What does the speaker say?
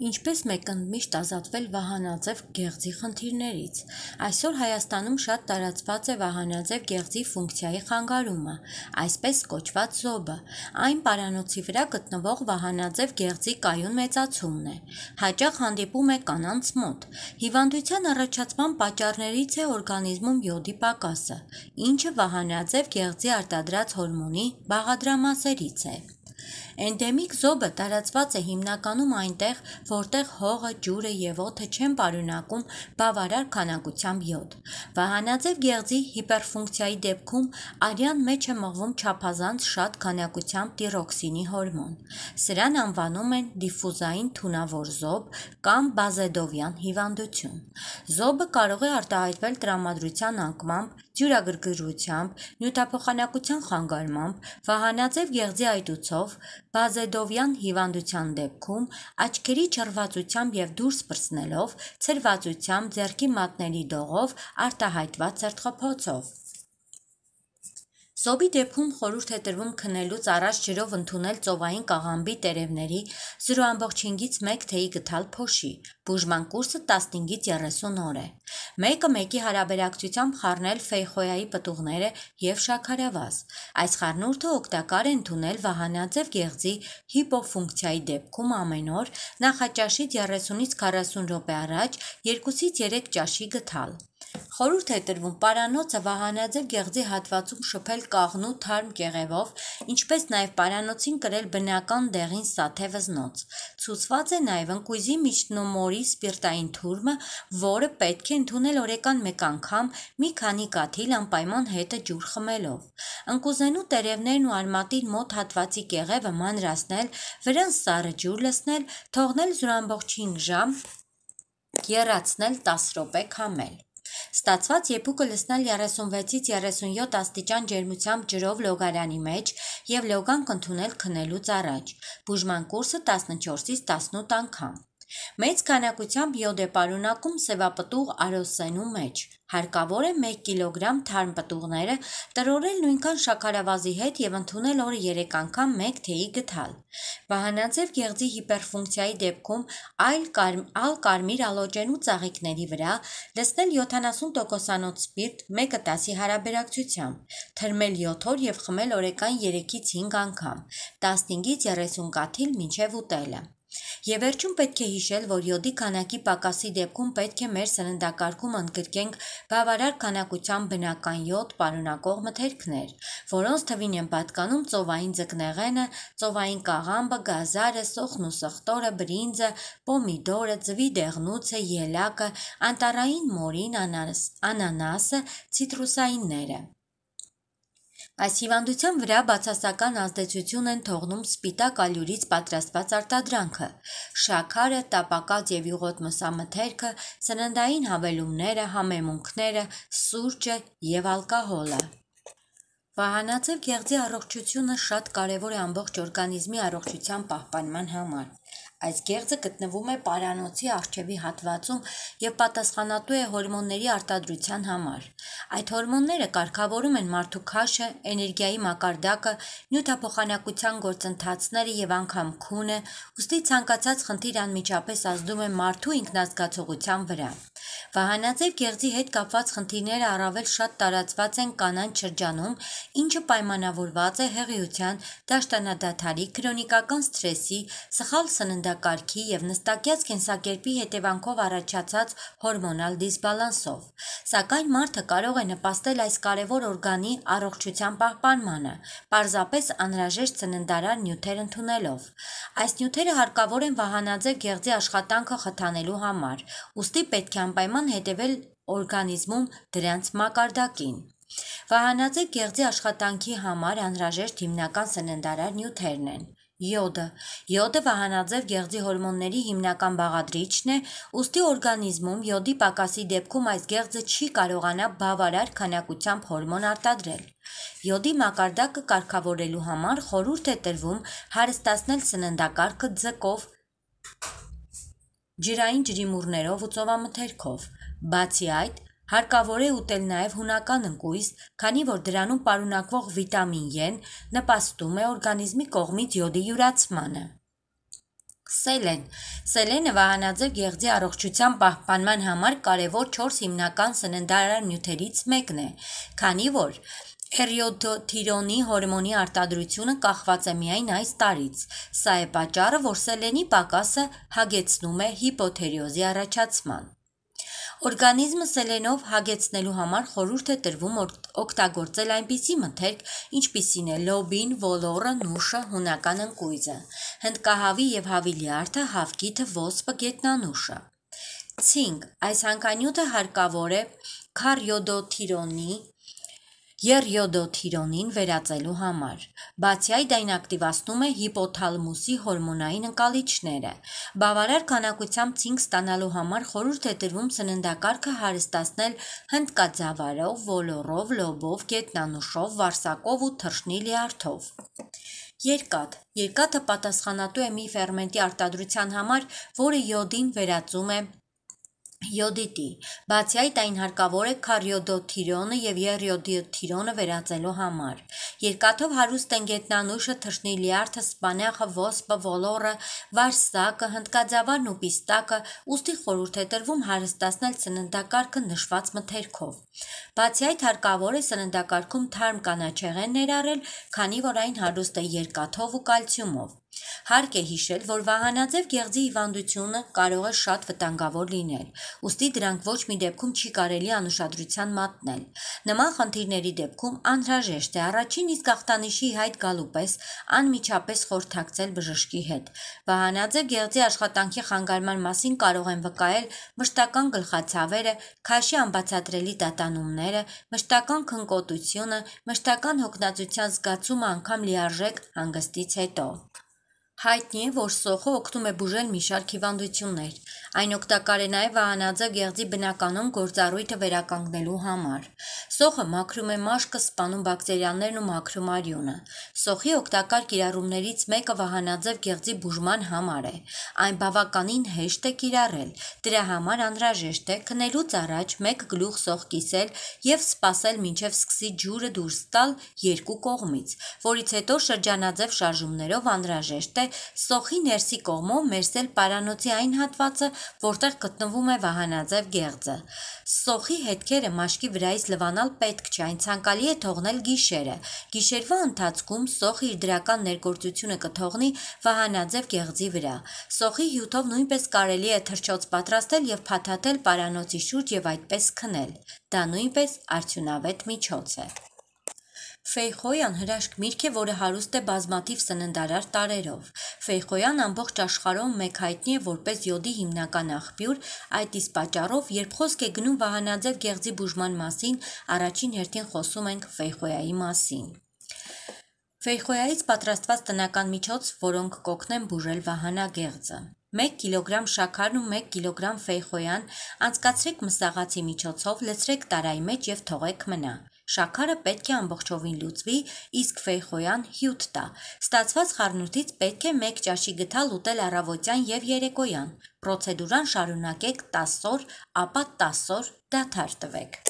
Ինչպես մեկընդմիշտ ազատվել վահանաձև գեղձի խնդիրներից։ Այսօր Հայաստանում շատ տարածված է վահանաձև գեղձի ֆունկցիայի խանգարումը, այսպես կոչված զոբը։ Այն պարանոցի վրա գտնվող վահանաձև գեղձի կայուն մեծացումն է։ Հաճախ հանդիպում է կանանց մոտ։ Հիվանդության առաջացման պատճառներից է օրգանիզմում յոդի պակասը, ինչը վահանաձև գեղձի արտադրած հորմոնի բաղադրամասերից է։ Էնդեմիկ զոբը տարածված է հիմնականում այնտեղ, որտեղ հողը, ջուրը և օդը չեն պարունակում բավարար քանակությամբ յոդ։ Վահանաձև գեղձի հիպերֆունկցիայի դեպքում արյան մեջ է մղվում չափազանց շատ քանակությամբ տիրոքսինի հորմոն։ Սրան անվանում են դիֆուզային թունավոր զոբ կամ բազեդովյան հիվանդություն։ Զոբը կարող է արտահայտվել տրամադրության անկմամբ, ձյուրագրգռությամբ, նյութափոխանակության խանգարմամբ, վահանաձև գեղձի այտուցով, բազեդովյան հիվանդության դեպքում աչքերի չռվածությամբ և դուրս պրծնելով, ցրվածությամբ, ձեռքի մատների դողով, արտահայտված սրտխփոցով։ Զոբի դեպքում խորհուրդ է տրվում քնելուց առաջ ջրով ընդունել ծովային կաղամբի տերևների 0,5-ից 1 թեյի գթալ փոշի։ Բուժման կուրսը 15-ից 30 օր է։ Մեկը մեկի հարաբերակցությամբ խառնել ֆեյխոյայի պտուղները և շաքարավազ։ Այս խառնուրդը օգտակար է ընդունել վահանաձև գեղձի հիպոֆունկցիայի դեպքում ամեն օր, նախաճաշից 30-ից 40 րոպե առաջ 2-ից 3 ճաշի գթալ։ Խորհուրդ է տրվում պարանոցը վահանաձև գեղձի հատվածում շփել կաղնու թարմ կեղևով, ինչպես նաև պարանոցին կրել բնական դեղին սաթե վզնոց։ Ցուցված է նաև ընկույզի միջնոմորի սպիրտային թուրմը, որը պետք է ընդունել օրական մեկ անգամ մի քանի կաթիլ անպայման հետը ջուր խմելով։ Ընկուզենու տերևներն ու արմատին մոտ հատվածի կեղևը մանրացնել, վրան սառը ջուր լցնել, թողնել 0,5 ժամ, եռացնել 10 րոպե քամել։ Ստացված եփուկը լցնել 36-ից 37 աստիճան ջերմությամբ ջրով լոգարանի մեջ և լոգանք ընդունել քնելուց առաջ։ Բուժման կուրսը 14-ից 18 անգամ։ Մեծ քանակությամբ յոդ է պարունակում սևապտուղ արոսենու մեջ։ Հարկավոր է 1 կգ թարմ պտուղները տրորել նույնքան շաքարավազի հետ և ընդունել օրը 3 անգամ 1 թեյի գթալ։ Վահանաձև գեղձի հիպերֆունկցիայի դեպքում ալկարմիր ալոճենու ծաղիկների վրա լցնել 70% սպիրտ 1:10-ի հարաբերակցությամբ, թրմել 7 օր և խմել օրական 3-ից 5 անգամ, 15-ից 30 կաթիլ մինչև ուտելը։ Եվ վերջում պետք է հիշել, որ յոդի քանակի պակասի դեպքում պետք է մեր սննդակարգում ընդգրկենք բավարար քանակությամբ բնական յոդ պարունակող մթերքներ, որոնց թվին են պատկանում ծովային ձկնեղենը, ծովային կաղամբը, գազարը, սոխն ու սխտորը, բրինձը, պոմիդորը, ձվի դեղնուցը, ելակը, անտառային մորին, անանասը, ցիտրուսայինները։ Այս հիվանդության վրա բացասական ազդեցություն են թողնում սպիտակ ալյուրից պատրաստված արտադրանքը, շաքարը, տապակած և յուղոտ մսամթերքը, սննդային հավելումները, համեմունքները, սուրճը և ալկոհոլը։ Վահանաձև գեղձի առողջությունը շատ կարևոր է ամբողջ օրգանիզմի առողջության պահպանման համար։ Այս գեղձը գտնվում է պարանոցի առջևի հատվածում և պատասխանատու է հորմոնների արտադրության համար։ Այդ հորմոնները կարգավորում են մարդու քաշը, էներգիայի մակարդակը, նյութափոխանակության գործընթացները և անգամ քունը, ուստի ցանկացած խնդիր անմիջապես ազդում է մարդու ինքնազգացողության վրա։ Վահանաձև գեղձի հետ կապված խնդիրները առավել շատ տարածված են կանանց շրջանում, ինչը պայմանավորված է հեղիության, դաշտանադադարի, քրոնիկական սթրեսի, սխալ սննդակարգի և նստակյաց կենսակերպի հետևանքով առաջացած հորմոնալ դիսբալանսով։ Սակայն մարդը կարող է նպաստել այս կարևոր օրգանի առողջության պահպանմանը, պարզապես անհրաժեշտ սննդարար նյութեր ընդունելով։ Այս նյութերը հարկավոր են վահանաձև գեղձի աշխատանքը խթանելու համար, ուստի պետք է անպայման հետևել օրգանիզմում դրանց մակարդակին։ Վահանաձև գեղձի աշխատանքի համար անհրաժեշտ հիմնական սննդարար նյութերն են։ Յոդը։ Յոդը վահանաձև գեղձի հորմոնների հիմնական բաղադրիչն է, ուստի օրգանիզմում յոդի պակասի դեպքում այս գեղձը չի կարողանա բավարար քանակությամբ հորմոն արտադրել։ Յոդի մակարդակը կարգավորելու համար խորհուրդ է տրվում հարստացնել սննդակարգը ձկով, ջրային ջրիմուռներով ու ծովամթերքով։ Բացի այդ, հարկավոր է ուտել նաև հունական ընկույզ, քանի որ դրանում պարունակվող վիտամին Ե-ն նպաստում է օրգանիզմի կողմից յոդի յուրացմանը։ Սելեն։ Սելենը վահանաձև գեղձի առողջության պահպանման համար կարևոր 4 հիմնական սննդարար նյութերից մեկն է, քանի որ էրիոթիրոնի հորմոնի արտադրությունը կախված է միայն այս տարրից։ Սա է պատճառը, որ սելենի պակասը հագեցնում է հիպոթիրոզի առաջացման։ Օրգանիզմը սելենով հագեցնելու համար խորհուրդ է տրվում օգտագործել այնպիսի մթերք, ինչպիսին է լոբին, ոլորը, նուշը, հունական ընկույզը, հնդկահավի եւ հավի լյարդը, հավկիթը, ոսպը, գետնանուշը։ Ցինկ։ Այս հանքանյութը հարկավոր է եռյոդոթիրոնին վերածելու համար։ Բացի այդ, այն ակտիվացնում է հիպոթալամուսի հորմոնային ընկալիչները։ Բավարար քանակությամբ ցինկ ստանալու համար խորհուրդ է տրվում սննդակարգը հարստացնել հնդկաձավարով, ոլորով, լոբով, գետնանուշով, վարսակով ու թռչնի լյարդով։ Երկաթ։ Երկաթը պատասխանատու է մի ֆերմենտի արտադրության համար, որը յոդին վերածում է յոդիտի։ Բացի այդ, այն հարկավոր է քարյոդոթիրոնը եւ եռյոդոթիրոնը վերածելու համար։ Երկաթով հարուստ են գետնանուշը, թռչնի լյարդը, սպանախը, ոսպը, ոլորը, վարսակը, հնդկաձավարն ու պիստակը, ուստի խորհուրդ է տրվում հարստացնել սննդակարգը նշված մթերքով։ Բացի այդ, հարկավոր է սննդակարգում թարմ կանաչեղեն ներառել, քանի որ այն հարուստ է երկաթով ու կալցիումով։ Հարկ է հիշել, որ վահանաձև գեղձի հիվանդությունը կարող է շատ վտանգավոր լինել, ուստի դրանք ոչ մի դեպքում չի կարելի անուշադրության մատնել։ Նման խնդիրների դեպքում անհրաժեշտ է առաջին իսկ ախտանիշի հայտ գալու պես անմիջապես խորհրդակցել բժշկի հետ։ Վահանաձև գեղձի աշխատանքի խանգարման մասին կարող են վկայել մշտական գլխացավերը, քաշի անբացատրելի տատանումները, մշտական քնկոտությունը, մշտական հոգնածության զգացումը անգամ լիարժեք հանգստից հետո։ Հայտնի է, որ սոխը օգնում է բուժել մի շարք հիվանդություններ։ Այն օգտակար է նաև վահանաձև գեղձի բնականոն գործառույթը վերականգնելու համար։ Սոխը մաքրում է մաշկը, սպանում բակտերիաներն ու մաքրում արյունը։ Սոխի օգտակար կիրառումներից մեկը վահանաձև գեղձի բուժման համար է։ Այն բավականին հեշտ է կիրառել։ Դրա համար անհրաժեշտ է քնելուց առաջ 1 գլուխ սոխ կիսել եւ սպասել մինչեւ սկսի ջուրը դուրս տալ երկու կողմից, որից հետո շրջանաձև շարժումներով անհրաժեշտ է սոխի ներսի կողմով մերսել պարանոցի այն հատվածը, որտեղ գտնվում է վահանաձև գեղձը։ Սոխի հետքերը մաշկի վրայից լվանալ պետք չէ, այն ցանկալի է թողնել գիշերը։ Գիշերվա ընթացքում սոխը իր դրական ներգործությունը կթողնի վահանաձև գեղձի վրա։ Սոխի հյութով նույնպես կարելի է թռչոց պատրաստել եւ փաթաթել պարանոցի շուրջ եւ այդպես քնել։ Դա նույնպես արդյունավետ միջոց է։ Ֆեյխոյան հրաշք միրգ է, որը հարուստ է բազմաթիվ սննդարար տարրերով։ Ֆեյխոյան ամբողջ աշխարհում մեկ հայտնի է որպես յոդի հիմնական աղբյուր, այդ իսկ պատճառով, երբ խոսք է գնում վահանաձև գեղձի բուժման մասին, առաջին հերթին խոսում ենք ֆեյխոյայի մասին։ Ֆեյխոյայից պատրաստված տնական միջոց, որոնք կօգնեն բուժել վահանագեղձը։ 1 կիլոգրամ շաքարն ու 1 կիլոգրամ ֆեյխոյան անցկացրեք մսաղացի միջոցով, լցրեք տարայի մեջ եւ թողեք մնա։ Շաքարը պետք է ամբողջովին լուծվի, իսկ ֆեյխոյան հյութ տա։ Ստացված խառնուրդից պետք է 1 ճաշի գթալ ուտել առավոտյան եւ երեկոյան։ Պրոցեդուրան շարունակեք 10 օր, ապա 10 օր դադար տվեք։